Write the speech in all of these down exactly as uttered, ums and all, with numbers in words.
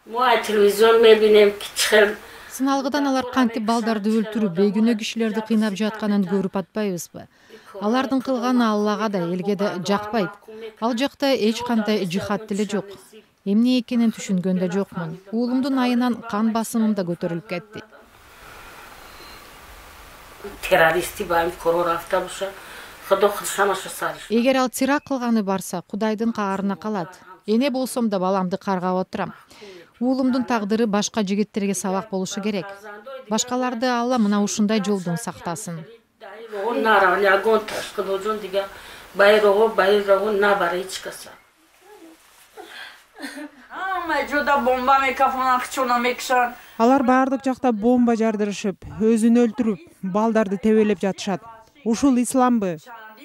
Мой телевизор мебинем кичkel. Сыналгыдан алар кантип балдарды өлтүрүп, бейгүнөө кишилерди кыйнап жатканын көрүп атпайбызбы? Алардын кылганы Аллага да, элге да жакпайт. Ал жакта эч кандай жихад деле жок. Эмне экенин түшүнгөн да жокмун. Уулумдун айынан кан басымым да көтөрүлүп кетти. Террористи байм корор автобуса. Эгер ал теракт кылганы барса, Кудайдын каарына калат. Эне болсом да баламды каргап отурам. Уулумдун тагдыры башка жигиттерге сабак болушу керек. Башкаларды Алла мына ушундай жолдон сактасын. Алар баардык жакта бомба жардырышып, өзүн өлтүрүп, балдарды тебелеп жатышат. Ушул исламбы?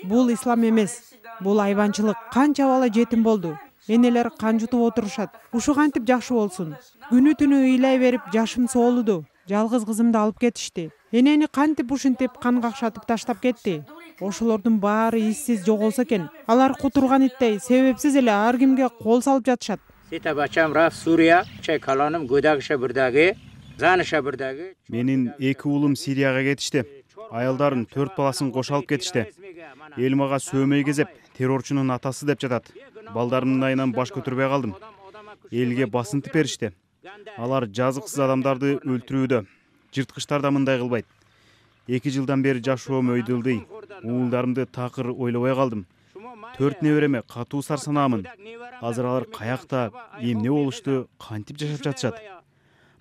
Бул ислам эмес. Бул айванчылык. Канча бала жетим болду. Энелер кан жутуп отурушат. Ушу кантип жакшы болсун? Күнү түнү ыйлай берип жашым соолуду. Жалгыз кызымды алып кетишти. Энени кантип ушинтип кан какшатып таштап кетти? Ошолордун баары иссиз жоголсо экен. Алар кутурган иттей себепсиз эле ар кимге кол салып жатышат. Сета бачам раф Сурия, чай каланым гөдагыша бирдаги, заныша бирдаги. Менин эки уулум Сирияга кетишти. Аялдарын төрт баласын кошо алып кетишти. Эл мага сөөмөй кезеп, террорчунун атасы деп жатат. Балдарымдын айынан баш көтөрбөй калдым. Элге басынтып беришти. Алар жазыксыз адамдарды өлтүрүүдө. Жырткычтар да мындай кылбайт. Эки жылдан бери жашоом өйдөлдөй. Уулдарымды такыр ойлобой калдым. Төрт небереме катуу сарсанаамын. Азыр алар каякта, эмне болушту, кантип жашап жатышат?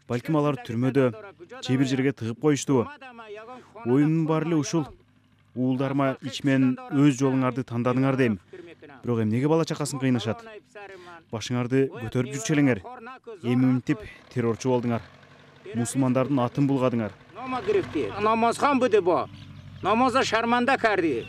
Балким алар түрмөдө, же бир жерге тыгып коюштубу? Оюмдун баары эле ушул. Уулдарыма ичмен өз жолуңарды тандадыңар дейм. Бирок эмнеге бала чакасын кыйнашат? Башыңарды көтөрүп жүрчү элеңер. Эми мынтип террорчу болдуңар. Мусулмандардын атын булгадыңар. Намазхан буду бу. Намаза шарманда карди.